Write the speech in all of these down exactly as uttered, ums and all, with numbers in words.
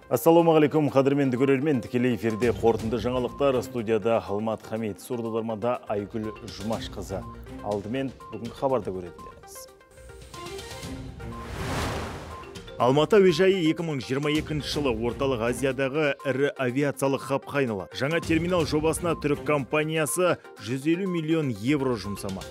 Ассалаумағалейкум, қадірменді көрермен, тікелей эфирде қорытынды жаңалықтар, студияда Алмат Хамид, сурдодармада Айгүл Жұмашқызы. Алдымен бүгінгі хабарды көретіндеріңіз. Алматы әуежайы екі мың жиырма екінші жылы орталық Азиядағы ірі авиациялық хабқа айналады. Жаңа терминал жобасына түрік компаниясы жүз елу миллион евро жұмсамақ.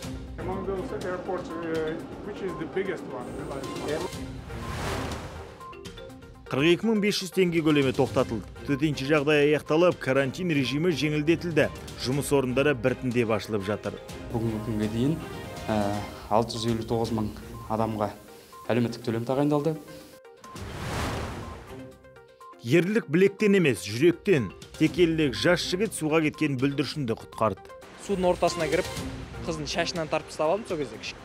қырық екі мың бес жүз теңге көлемі тоқтатылды. Төтенше жағдай аяқталып, карантин режимі жеңілдетілді. Жұмыс орындары біртіндеп ашылып жатыр. Бүгінгі күнге дейін алты жүз елу тоғыз мың адамға әлеуметтік төлем тағайындалды. Ерлік білектен емес, жүректен. Текелілік жас жігіт суға кеткен бүлдіршінді құтқарды. Судың ортасына кіріп, қыздың шашынан тарпып ұстап алдым, сол кезде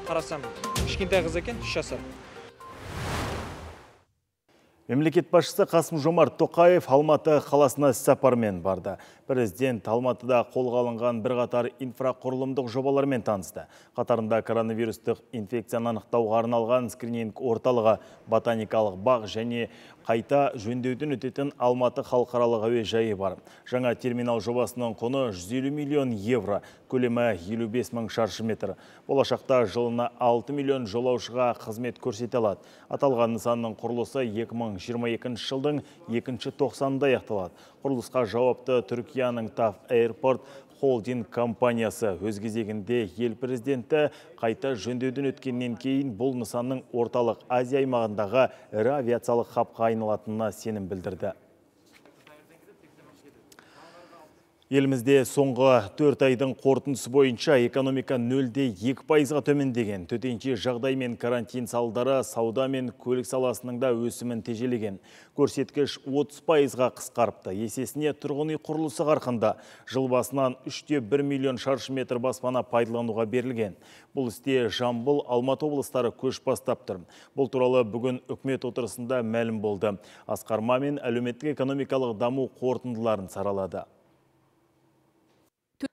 қарасам, кішкентай қыз екен, үш жасар. Мемлекет басшысы Қасым-Жомарт Тоқаев Алматы қаласына іс-сапармен барды. Президент Алматыда қолға алынған бірқатар инфрақұрылымдық жобалармен танысты. Қатарында коронавирустық инфекцияны анықтауға арналған скрининг орталығы, ботаникалық бақ және қайта жөндеуден өтетін Алматы халықаралық әуежайы бар. Жаңа терминал жобасының құны жүз елу миллион евро, көлемі елу бес мың шаршы метр. Болашақта жылына алты миллион жолаушыға қызмет көрсете алады. Аталған нысанның құрылысы екі мың жиырма екінші жылдың екінші тоқсанында аяқталады. Құрылысқа жауапты Түркияның таф Airport холдинг компаниясы. Өз кезегінде ел президенті қайта жөндеуден өткеннен кейін бұл нысанның орталық Азия аймағындағы ірі авиациялық хабқа айналатынына сенім білдірді. Елімізде соңғы төрт айдың қорытындысы бойынша экономика нөлде екі пайызға төмендеген. Төтенше жағдай мен карантин салдары сауда мен көлік саласының да өсімін тежелеген. Көрсеткіш отыз пайызға қысқарыпты. Есесіне тұрғын үй құрылысы қарқынды. Жыл басынан үш те бір миллион шаршы метр баспана пайдалануға берілген. Бұл істе Жамбыл, Алматы облыстары көш бастап тұр. Бұл туралы бүгін үкімет отырысында мәлім болды. Асқар Мамин әлеуметтік экономикалық даму қорытындыларын саралады.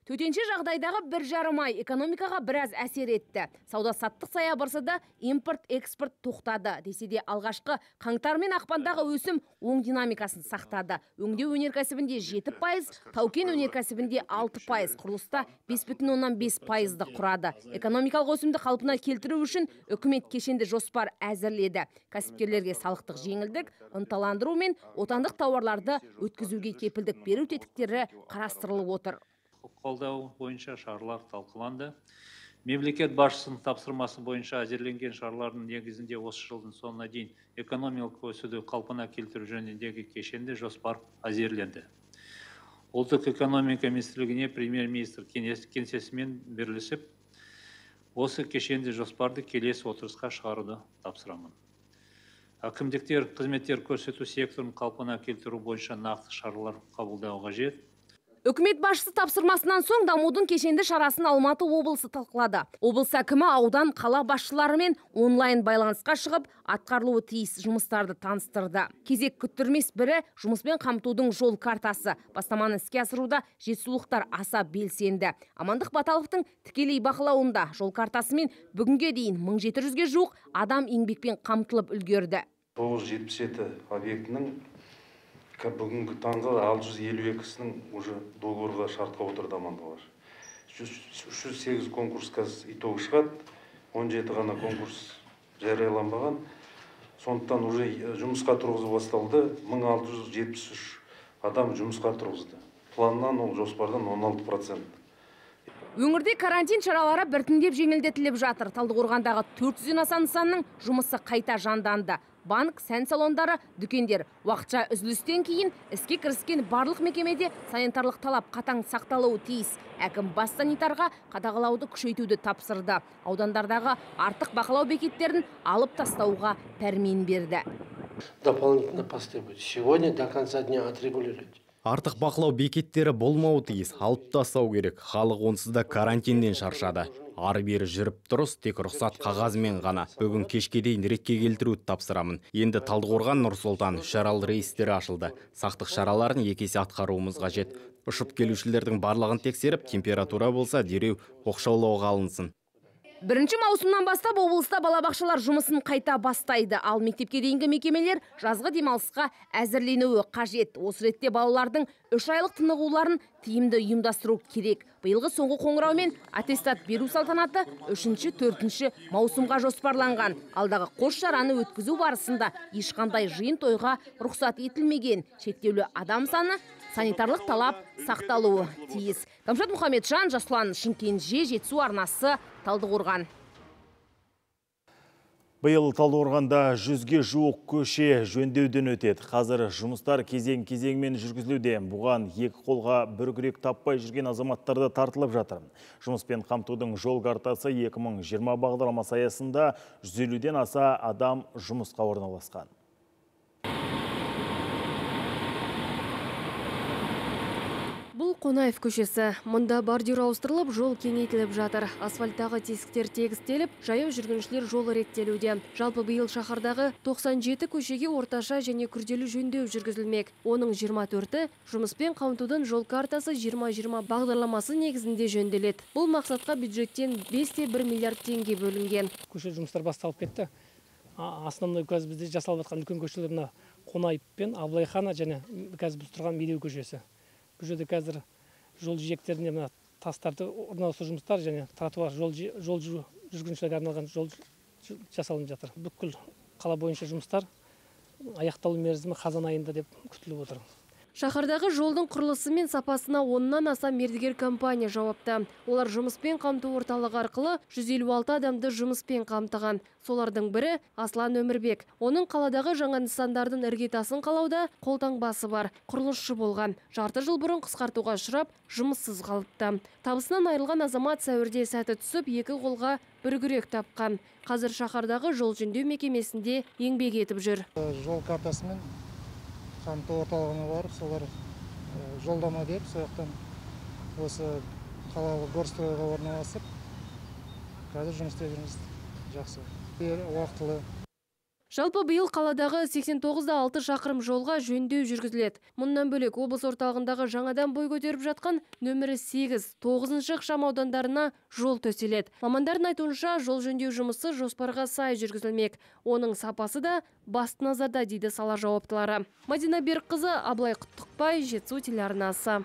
Төтенше жағдайдағы бір жарым ай экономикаға біраз әсер етті. Сауда-саттық саябырсыда импорт-экспорт тоқтады. Десе де алғашқы қаңтар мен ақпандағы өсім оң динамикасын сақтады. Өңдеу өнеркәсібінде жеті пайыз, тау-кен өнеркәсібінде алты пайыз, құрылыста бес бүтін оннан бес пайызды құрады. Экономикалық өсімді қалпына келтіру үшін үкімет кешенді жоспар әзірледі. Кәсіпкерлерге салықтық жеңілдік, ынталандыру мен отандық тауарларды өткізуге кепілдік беру тетіктері қарастырылып отыр. Қолдау бойынша шаралар талқыланды. Мемлекет басшысының тапсырмасы бойынша әзірленген шаралардың негізінде осы жылдың соңына дейін экономикалық өсуді қалпына келтіру жөніндегі кешенді жоспар әзірленді. Ұлттық экономика министрлігіне премьер-министр кеңсесімен бірлесіп, осы кешенді жоспарды келесі отырысқа шығаруды тапсырамын. Әкімдіктер қызметтер көрсету секторын қалпына келтіру бойынша нақты шаралар қабылдауға қажет. Үкімет басшысы тапсырмасынан соң дамудың кешенді шарасын Алматы облысы талқылады. Облыс әкімі аудан қала басшыларымен онлайн байланысқа шығып, атқарылуы тиіс жұмыстарды таныстырды. Кезек күттірмес бірі жұмыспен қамтудың жол картасы. Бастаманы іске асыруда жетісулықтар аса белсенді. Амандық Баталовтың тікелей бақылауында жол картасымен бүгінге дейін мың жеті жүзге жуық адам еңбекпен қамтылып үлгерді. тоғыз жүз жетпіс жеті объектінің бүгінгі таңғы алты жүз елу екісінің уже договорға шартқа отырды амандығы бар. үш жүз сегіз конкурс қазір итоғы шығады, он жеті ғана конкурс жарияланбаған. Сондықтан уже жұмысқа тұрғызу басталды, мың алты жүз жетпіс үш адам жұмысқа тұрғызды. Планнан ол жоспардан он алты процент. Өңірде карантин шаралары біртіндеп жеңілдетіліп жатыр. Талдықорғандағы төрт жүзден аса нысанның жұмысы қайта жанданды. Банк, сән салондары, дүкендер уақытша үзілістен кейін іске кіріскен барлық мекемеде санитарлық талап қатаң сақталуы тиіс. Әкім бас санитарға қадағалауды күшейтуді тапсырды. Аудандардағы артық бақылау бекеттерін алып тастауға пәрмен берді. Дополнительно посты будет. Сегодня до конца дня отрегулировать. Артық бақылау бекеттері болмауы тиіс, алып тастау керек. Халық онсыз да карантиннен шаршады. Ары-бері жүріп тұрыс, тек рұқсат қағазымен ғана. Бүгін кешке дейін ретке келтіруді тапсырамын. Енді Талдықорған, Нұр-Сұлтан үшарал рейстері ашылды. Сақтық шараларын екі есе атқаруымыз қажет. Ұшып келушілердің барлығын тексеріп, температура болса дереу оқшаулауға алынсын. Бірінші маусымнан бастап облыста балабақшалар жұмысын қайта бастайды. Ал мектепке дейінгі мекемелер жазғы демалысқа әзірленуі қажет. Осы ретте балалардың үш айлық тынығуларын тиімді ұйымдастыру керек. Биылғы соңғы қоңыраумен аттестат беру салтанаты үшінші төртінші маусымға жоспарланған. Алдағы қос шараны өткізу барысында ешқандай жиын тойға рұқсат етілмеген. Шектеулі адам саны, санитарлық талап сақталуы тиіс. Камшат Мұхамеджан, Жасұлан Шымкентже, Жетісу арнасы, Талдықорған. Биыл Талдықорғанда жүзге жуық көше жөндеуден өтеді. Қазір жұмыстар кезең-кезеңмен жүргізілуде. Бұған екі қолға бір күрек таппай жүрген азаматтарды тартылып жатыр. Жұмыспен қамтудың жол картасы екі мың жиырма бағдарламасы аясында жүз елуден аса адам жұмысқа орналасқан. Бұл Қонаев көшесі. Мұнда бордюр ауыстырылып, жол кеңейтіліп жатыр. Асфальттағы тесіктер тегістеліп, жаяу жүргіншілер жолы реттелуде. Жалпы биыл шаһардағы тоқсан жеті көшеге орташа және күрделі жөндеу жүргізілмек. Оның жиырма төрті жұмыспен қамтудың жол картасы жиырма жиырма бағдарламасы негізінде жөнделеді. Бұл мақсатқа бюджеттен бес те бір миллиард теңге бөлінген. Көше жұмыстар басталып кетті. Основной қазір бізде жасалып жатқан үлкен көшелер мына Қонаев пен Абылайхана және қазір біз тұрған Медеу көшесі. Бұл жерде қазір жол жиектеріне мына тастарды орналастыру жұмыстар және тротуар жол жол жүргіншілерге арналған жол жасалынып жатыр. Бүкіл қала бойынша жұмыстар аяқталу мерзімі қазан айында деп күтіліп отыр. Шаһардағы жолдың құрылысы мен сапасына оннан аса мердігер компания жауапты. Олар жұмыспен қамту орталығы арқылы жүз елу алты адамды жұмыспен қамтыған. Солардың бірі Аслан Өмірбек. Оның қаладағы жаңа нысандардың іргетасын қалауда қолтаңбасы бар. Құрылысшы болған. Жарты жыл бұрын қысқартуға ұшырап, жұмыссыз қалыпты. Табысынан айырылған азамат сәуірде сәті түсіп, екі қолға бір күрек тапқан. Қазір шаһардағы жол жөндеу мекемесінде еңбек етіп жүр. Жол картасымен қамту орталығына барып, солар жолдама деп, сояқтан осы қалалық горстройға орналасып, қазір жұмыс істеп жүрміз. Жақсы, уақытылы. Жалпы биыл қаладағы сексен тоғыз да алты шақырым жолға жөндеу жүргізіледі. Мұндан бөлек облыс орталығындағы жаңадан бой көтеріп жатқан нөмірі сегіз, тоғызыншы ықшам аудандарына жол төселеді. Мамандардың айтуынша жол жөндеу жұмысы жоспарға сай жүргізілмек. Оның сапасы да басты назарда дейді сала жауаптылары. Мадина Берікқызы, Абылай Құттықбай, Жетісу телеарнасы.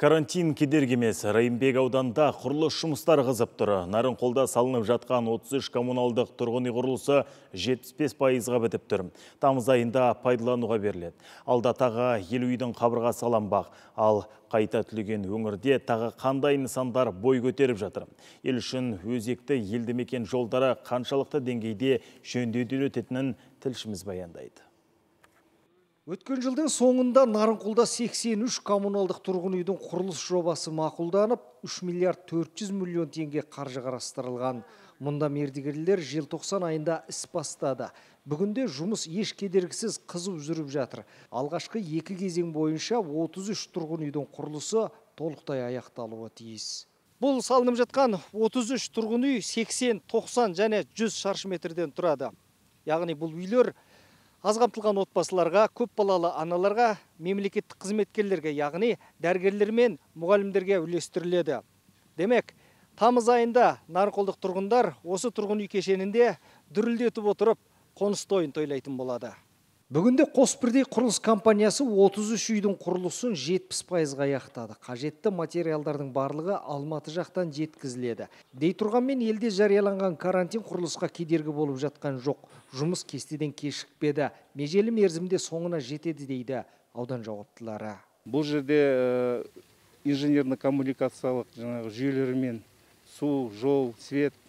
Карантин кедергі емес. Райымбек ауданында құрылыс жұмыстар қызып тұр. Нарынқолда салынып жатқан отыз үш коммуналдық тұрғын үй құрылысы жетпіс бес пайызға бітіп тұр. Тамыз айында пайдалануға беріледі. Алда тағы елу үйдің қабырғасы салынбақ. Ал қайта түлеген өңірде тағы қандай нысандар бой көтеріп жатыр. Ел үшін өзекті елді мекен жолдары қаншалықты деңгейде жөндеуден өтетінін тілшіміз баяндайды. Өткен жылдың соңында Нарынқолда сексен үш коммуналдық тұрғын үйдің құрылыс жобасы мақұлданып, үш миллиард төрт жүз миллион теңге қаржы қарастырылған. Мұнда мердігерлер желтоқсан айында іс бастады. Бүгінде жұмыс еш кедергісіз қызып жүріп жатыр. Алғашқы екі кезең бойынша отыз үш тұрғын үйдің құрылысы толықтай аяқталуы тиіс. Бұл салынып жатқан отыз үш тұрғын үй сексен, тоқсан және жүз шаршы метрден тұрады. Яғни бұл үйлер аз қамтылған отбасыларға, көп балалы аналарға, мемлекеттік қызметкерлерге, яғни дәрігерлер мен мұғалімдерге үлестіріледі. Демек, тамыз айында Нарынқолдық тұрғындар осы тұрғын үй кешенінде дүрілдетіп отырып, қоныс тойын тойлайтын болады. Бүгінде Қосбірдей құрылыс компаниясы отыз үш үйдің құрылысын жетпіс пайызға аяқтады. Қажетті материалдардың барлығы Алматы жақтан жеткізіледі. Дей тұрғанмен елде жарияланған карантин құрылысқа кедергі болып жатқан жоқ. Жұмыс кестеден кешікпеді. Межелі мерзімде соңына жетеді дейді аудан жауаптылары. Бұл жерде инженерно-коммуникациялық жүйелермен су, жол, свет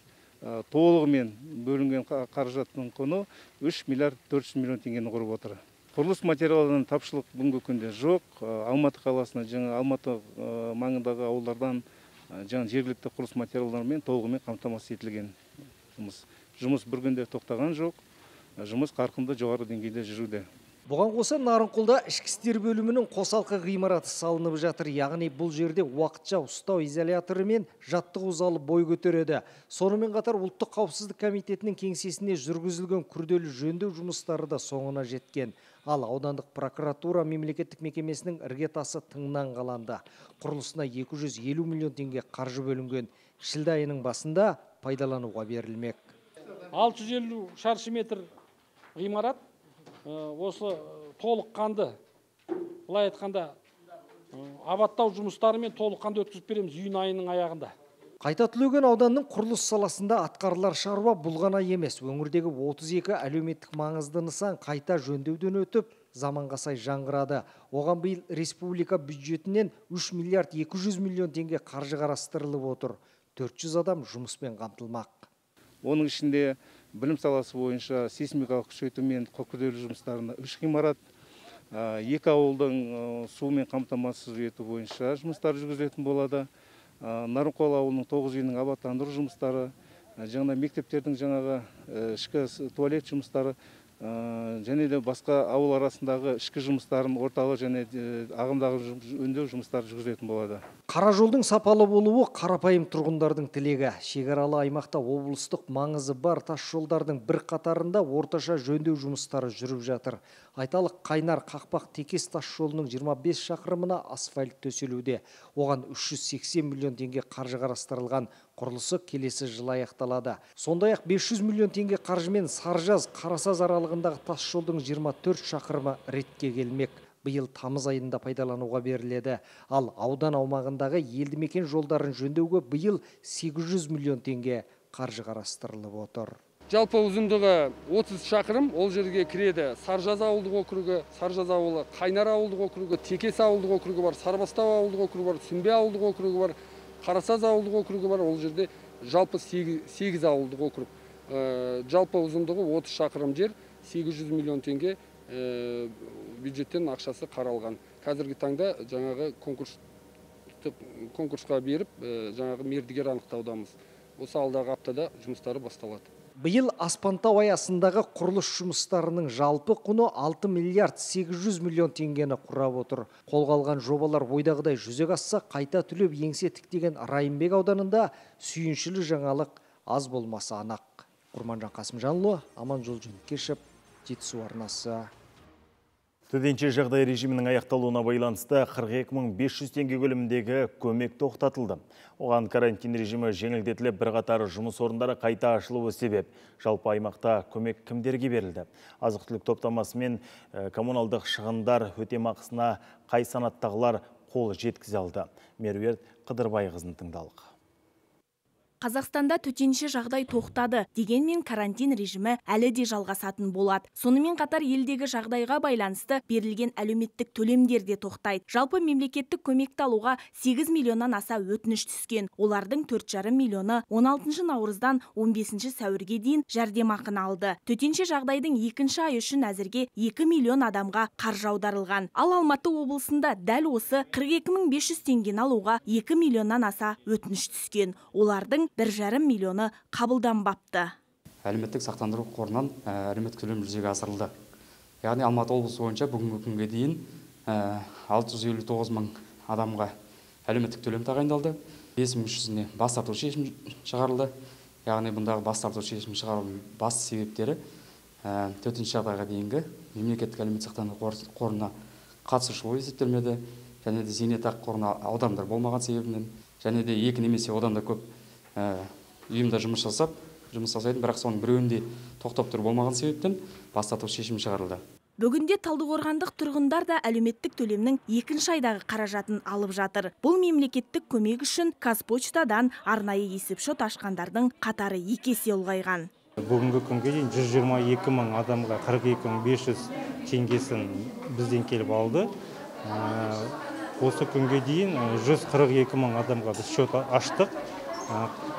толығымен бөлінген қаражаттың құны үш миллиард төрт жүз миллион теңгені құрып отыр. Құрылыс материалдарының тапшылық бүгінгі күнде жоқ. Алматы қаласына, жаңа Алматы маңындағы ауылдардан жаңа жергілікті құрылыс материалдарымен толығымен қамтамасыз етілген жұмыс. Жұмыс бір күнде тоқтаған жоқ. Жұмыс қарқынды жоғары деңгейде жүруде. Бұған қоса Нарынқолда ішкі істер бөлімінің қосалқы ғимараты салынып жатыр. Яғни бұл жерде уақытша ұстау изоляторы мен жаттығу залы бой көтереді. Сонымен қатар ұлттық қауіпсіздік комитетінің кеңсесіне жүргізілген күрделі жөндеу жұмыстары да соңына жеткен. Ал аудандық прокуратура мемлекеттік мекемесінің іргетасы тыңнан қаланды. Құрылысына екі жүз елу миллион теңге қаржы бөлінген. Шілде айының басында пайдалануға берілмек. алты жүз елу шаршы метр ғимарат осы толыққанды, былай айтқанда, абаттау жұмыстарымен толыққанды өткізіп береміз июнь айының аяғында. Қайта түлеген ауданның құрылыс саласында атқарылар шаруа бұл ғана емес. Өңірдегі отыз екі әлеуметтік маңызды нысан қайта жөндеуден өтіп, заманға сай жаңғырады. Оған биыл республика бюджетінен үш миллиард екі жүз миллион теңге қаржы қарастырылып отыр. төрт жүз адам жұмыспен қамтылмақ. Оның ішінде білім саласы бойынша сейсмикалық күшейту мен күрделі жұмыстарына үш ғимарат, екі ауылдың сумен қамтамасыз ету бойынша жұмыстар жүргізілетін болады. Нарынқол ауылының тоғыз үйінің абаттандыру жұмыстары, жаңа мектептердің жаңағы ішкі туалет жұмыстары, және де басқа ауыл арасындағы ішкі жұмыстарын орталық және ағымдағы өңдеу жұмыстары жүргізілетін болады. Қара жолдың сапалы болуы қарапайым тұрғындардың тілегі. Шекаралы аймақта облыстық маңызы бар тас жолдардың бір қатарында орташа жөндеу жұмыстары жүріп жатыр. Айталық Қайнар Қақпақ Текес тас жолының жиырма бес шақырымына асфальт төселуде. Оған үш жүз сексен миллион теңге қаржы қарастырылған. Құрылысы келесі жылы аяқталады. Сондай-ақ бес жүз миллион теңге қаржымен Саржаз Қарасаз аралығындағы тас жолдың жиырма төрт шақырымы ретке келмек. Биыл тамыз айында пайдалануға беріледі. Ал аудан аумағындағы елді мекен жолдарын жөндеуге биыл сегіз жүз миллион теңге қаржы қарастырылып отыр. Жалпы ұзындығы отыз шақырым, ол жерге кіреді Саржаз ауылдық округі, Саржаз ауылы, Қайнар ауылдық округі, Текес ауылдық округі бар, Сарбастау ауылдық округі бар, Сүмбе ауылдық округі бар, Қарасаз ауылдық округі бар. Ол жерде жалпы сегіз ауылдық округ. Жалпы ұзындығы отыз шақырым жер, сегіз жүз миллион теңге бюджеттен ақшасы қаралған. Қазіргі таңда жаңағы конкурсқа беріп, жаңағы мердігер анықтаудамыз. Осы алдағы аптада жұмыстары басталады. Биыл Аспантау аясындағы құрылыс жұмыстарының жалпы құны алты миллиард сегіз жүз миллион теңгені құрап отыр. Қолға алған жобалар ойдағыдай жүзеге асса, қайта түлеп еңсе тіктеген Райымбек ауданында сүйіншілі жаңалық аз болмасы анық. Құрманжан Қасымжанұлы, Аманжол Жөнкешев, Жетісу арнасы. Төтенше жағдай режимінің аяқталуына байланысты қырық екі мың бес жүз теңге көлеміндегі көмек тоқтатылды. Оған карантин режимі жеңілдетіліп, бірқатар жұмыс орындары қайта ашылуы себеп. Жалпы аймақта көмек кімдерге берілді? Азық-түлік топтамасы мен коммуналдық шығындар өтемақысына қай санаттағылар қол жеткізе алды? Меруерт Қыдырбайқызын тыңдалық. Қазақстанда төтенше жағдай тоқтады, дегенмен карантин режимі әлі де жалғасатын болады. Сонымен қатар елдегі жағдайға байланысты берілген әлеуметтік төлемдер де тоқтайды. Жалпы мемлекеттік көмекті алуға сегіз миллионнан аса өтініш түскен. Олардың төрт жарым миллионы он алтыншы наурыздан он бесінші сәуірге дейін жәрдемақыны алды. Төтенше жағдайдың екінші айы үшін әзірге екі миллион адамға қаржы аударылған. Ал Алматы облысында дәл осы қырық екі мың бес жүз теңгені алуға екі миллионнан аса өтініш түскен. Олардың бір жарым миллионы қабылданбапты. Әлеуметтік сақтандыру қорынан әлеуметтік төлем жүзеге асырылды. Яғни Алматы облысы бойынша бүгінгі күнге дейін алты жүз елу тоғыз мың адамға әлеуметтік төлем тағайындалды. бес мың үш жүзіне бас тарту шешім шығарылды. Яғни бұндағы бас тарту шешім шығарудың басты себептері төтенше жағдайға дейінгі мемлекеттік әлеуметтік сақтандыру қорына қатысушылық есептелмеді, және де зейнетақы қорына аударымдар болмаған себебінен, және де екі немесе одан да көп ұйымда жұмыс жасап, жұмыс жасайды, бірақ соның біреуінде тоқтап тұру болмаған себептен бас тарту шешім шығарылды. Бүгінде Талдықорғандық тұрғындар да әлеуметтік төлемнің екінші айдағы қаражатын алып жатыр. Бұл мемлекеттік көмек үшін Қазпочтадан арнайы есепшот ашқандардың қатары екі есе ұлғайған. Бүгінгі күнге дейін жүз жиырма екі мың адамға қырық екі мың бес жүз теңгесін бізден келіп алды. Осы күнге дейін жүз қырық екі мың адамға біз шот аштық.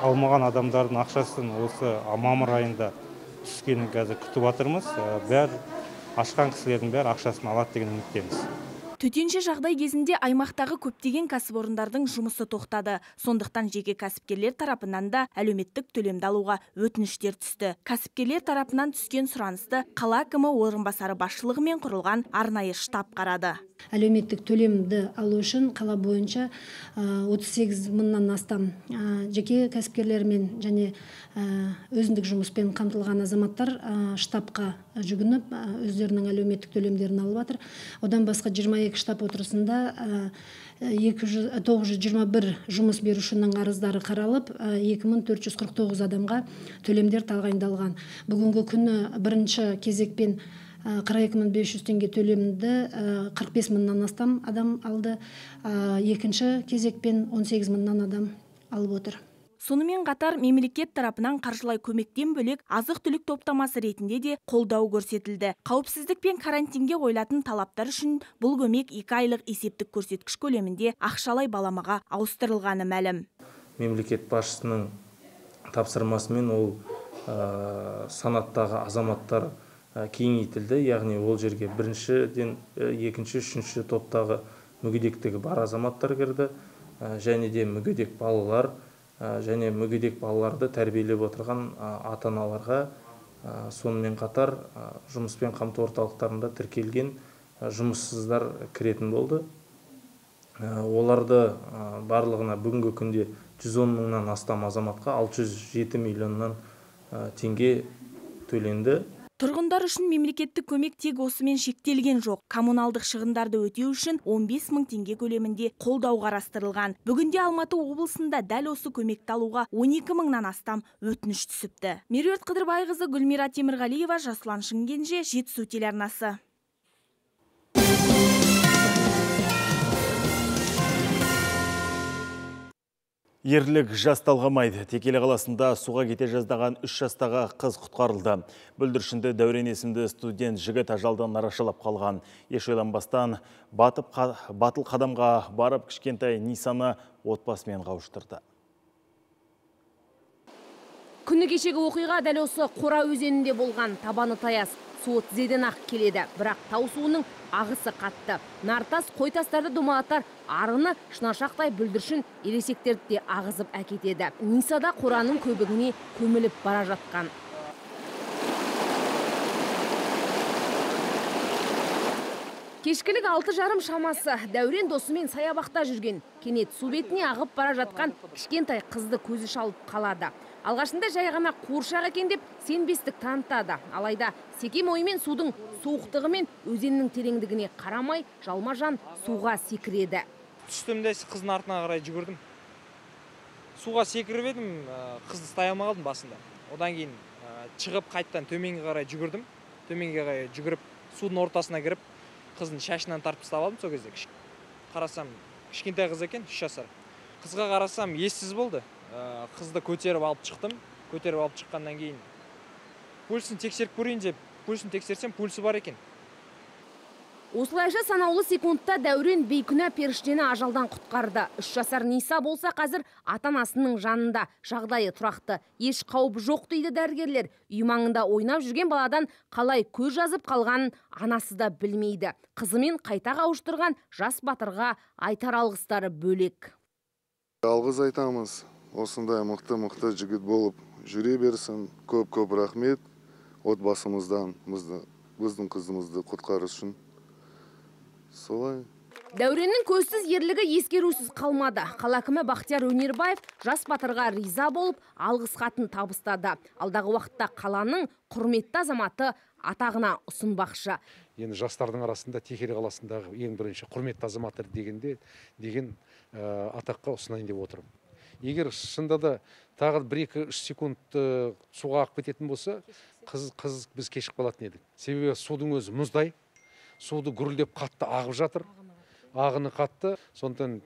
Алмаған адамдардың ақшасын осы мамыр айында түскенін қазір күтіп жатырмыз. Бәр ашқан кісілердің бәрі ақшасын алады деген үміттеміз. Төтенше жағдай кезінде аймақтағы көптеген кәсіпорындардың жұмысы тоқтады. Сондықтан жеке кәсіпкерлер тарапынан да әлеуметтік төлемді алуға өтініштер түсті. Кәсіпкерлер тарапынан түскен сұранысты қала әкімі орынбасары басшылығымен құрылған арнайы штаб қарады. Әлеуметтік төлемді алу үшін қала бойынша отыз сегіз мыңнан астам жеке кәсіпкерлермен және өзіндік жұмыспен қамтылған азаматтар штабқа жүгініп өздерінің әлеуметтік төлемдерін алып жатыр. Одан басқа жиырма екі штаб отырысында тоғыз жүз жиырма бір жұмыс берушінің арыздары қаралып, екі мың төрт жүз қырық тоғыз адамға төлемдер тағайындалған. Бүгінгі күні бірінші кезекпен қырық екі мың бес жүз теңге төлемді қырық бес мыңнан астам адам алды. Екінші кезекпен он сегіз мыңнан адам алып отыр. Сонымен қатар мемлекет тарапынан қаржылай көмектен бөлек азық-түлік топтамасы ретінде де қолдау көрсетілді. Қауіпсіздік пен карантинге қойылатын талаптар үшін бұл көмек екі айлық есептік көрсеткіш көлемінде ақшалай баламаға ауыстырылғаны мәлім. Мемлекет басшысының тапсырмасымен ол санаттағы азаматтар кеңейтілді, яғни ол жерге біріншіден екінші, үшінші топтағы мүгедектігі бар азаматтар кірді, және де мүгедек балалар және мүгедек балаларды тәрбиелеп отырған ата-аналарға, сонымен қатар жұмыспен қамту орталықтарында тіркелген жұмыссыздар кіретін болды. Оларды барлығына бүгінгі күнде жүз он мыңнан астам азаматқа алты жүз жеті миллионнан теңге төленді. Тұрғындар үшін мемлекеттік көмек тек осымен шектелген жоқ. Коммуналдық шығындарды өтеу үшін он бес мың теңге көлемінде қолдау қарастырылған. Бүгінде Алматы облысында дәл осы көмекті алуға он екі мыңнан астам өтініш түсіпті. Меруерт Қыдырбайқызы, Гүлмира Темірғалиева, Жасұлан Шымкенже, Жетісу телеарнасы. Ерлік жас талғамайды. Текелі қаласында суға кете жаздаған үш жастағы қыз құтқарылды. Бүлдіршінді Дәурен есімді студент жігіт ажалдан арашалап қалған. Еш ойланбастан батып, батыл қадамға барып кішкентай Нисаны отбасымен қауыштырды. Күні кешегі оқиға дәл осы Қора өзенінде болған. Табаны таяз, суы тізеден ақ келеді. Бірақ тау суының ағысы қатты. Нартас, қойтастарды домалатар арыны шынашақтай бүлдіршін ересектерді де ағызып әкетеді. Нисада Қораның көбігіне көміліп бара жатқан. Кешкілік алты жарым шамасы Дәурен досымен саябақта жүрген. Кенет су бетіне ағып бара жатқан кішкентай қызды көзі шалып қалады. Алғашында жай ғана қуыршақ екен деп сенбестік танытады. Алайда секем оймен судың суықтығы мен өзеннің тереңдігіне қарамай жалма-жан суға секіреді. Түстімде қыздың артына қарай жүгірдім. Суға секіріп едім, қызды ұстай алмай қалдым басында. Одан кейін шығып қайттан төменге қарай жүгірдім. Төменге қарай жүгіріп судың ортасына кіріп, қыздың шашынан тартып ұстап алдым сол кезде. Қарасам, кішкентай қыз екен, үш жасар. Қызға қарасам, ессіз болды. Қызды көтеріп алып шықтым. Көтеріп алып шыққаннан кейін пульсін тексеріп көрейін деп, пульсін тексерсем, пульсы бар екен. Осылайша санаулы секундта Дәурен бейкүнә періштені ажалдан құтқарды. Үш жасар Ниса болса қазір ата-анасының жанында, жағдайы тұрақты. Еш қауіп жоқ дейді дәрігерлер. Үй маңында ойнап жүрген баладан қалай көз жазып қалғанын анасы да білмейді. Қызымен қайта қауыштырған жас батырға айтар алғыстары бөлек. Алғыс айтамыз. Осындай мықты-мықты жігіт болып жүре берсін. Көп-көп рахмет отбасымыздан, біздің қызымызды құтқару үшін. Солай. Дәуреннің көзсіз ерлігі ескерусіз қалмады. Қала әкімі Бақтияр Өнербаев жас батырға риза болып алғыс хатын табыстады. Алдағы уақытта қаланың құрметті азаматы атағына ұсынбақшы. Енді жастардың арасында Текелі қаласындағы ең бірінші құрметті азаматтар дегенде деген атаққа ұсынайын деп отырмын. Егер шында да тағы бір-екі үш секунд суға ағып кететін болса, қыз қыз біз кешіп қалатын едік. Себебі судың өзі мұздай, суды гүрілдеп қатты ағып жатыр. Ағыны қатты, сондықтан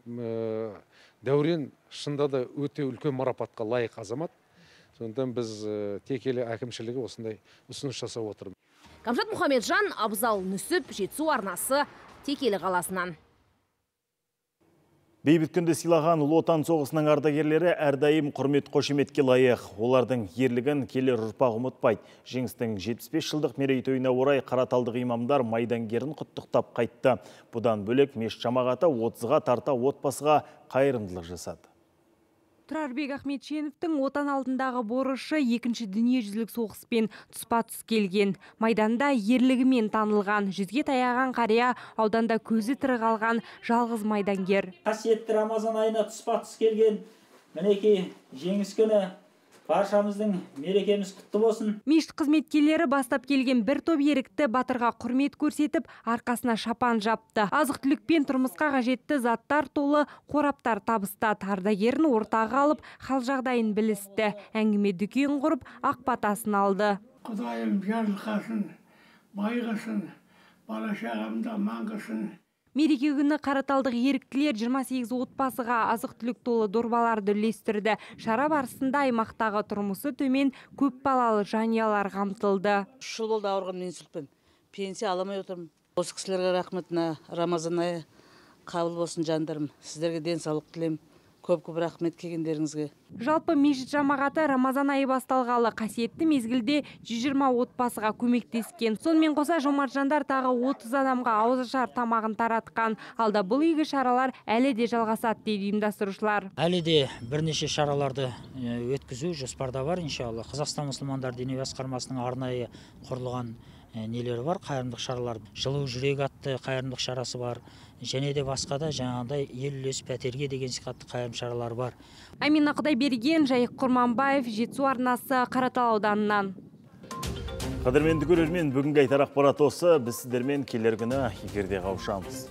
Дәурен шында да өте үлкен марапатқа лайық азамат. Сондықтан біз Текелі әкімшілігі осындай ұсыныс жасап отырмыз. Камшат Мұхамеджан, Абзал Нүсіп, Жетісу арнасы, Текелі қаласынан. Бейбіт күнді сыйлаған Ұлы Отан соғысының ардагерлері әрдайым құрмет қошеметке лайық. Олардың ерлігін келер ұрпақ ұмытпайды. Жеңістің жетпіс бес жылдық мерейтойына орай қараталдық имамдар майдангерін құттықтап қайтты. Бұдан бөлек мешіт жамағаты отызға тарта отбасыға қайырымдылық жасады. Тұрарбек Ахметшеновтың отан алдындағы борышы екінші дүниежүзілік соғыспен тұспа-тұс келген. Майданда ерлігімен танылған, жүзге таяған қария ауданда көзі тірі қалған жалғыз майдангер. Қасиетті Рамазан айына тұспа-тұс келген мінекей жеңіс күні баршамыздың мерекеміз құтты болсын. Мешіт қызметкерлері бастап келген бір топ ерікті батырға құрмет көрсетіп, арқасына шапан жапты. Азық-түлік пен тұрмысқа қажетті заттар толы қораптар табыстады. Ардагерін ортаға алып, хал жағдайын білісті. Әңгіме дүкен құрып, ақ батасын алды. Құдайым жарылқасын, байғасын, бала шағамда маңғасын. Мереке күні қараталдық еріктілер жиырма сегіз отбасыға азық-түлік толы дорбаларды үлестірді. Шара барысында аймақтағы тұрмысы төмен көп балалы жанұялар қамтылды. үш жыл болды ауырған инсультпен. Пенсия аламай отырмын. Осы кісілерге рахмет, Рамазан айы қабыл болсын жандарым. Сіздерге денсаулық тілеймін. Көп-көп рахмет келгендеріңізге. Жалпы мешіт жамағаты Рамазан айы басталғалы қасиетті мезгілде жүз жиырма отбасыға көмектескен. Сонымен қоса жомарт жандар тағы отыз адамға ауызашар тамағын таратқан. Алда бұл игі шаралар әлі де жалғасады дейді ұйымдастырушылар. Әлі де бірнеше шараларды өткізу жоспарда бар, иншалла. Қазақстан мұсылмандар діни басқармасының арнайы құрылған нелері бар, қайырымдылық шаралар. Жылу жүрек атты қайырымдылық шарасы бар. Және де басқа да жаңағыдай ел үлес пәтерге деген сипатты қайырым шаралар бар. Амина Құдайберген, Жайық Құрманбаев, Жетісу арнасы, Қаратал ауданынан. Қадірменді көрермен, бүгінгі айтар ақпарат осы. Біз сіздермен келер күні эфирде қауышамыз.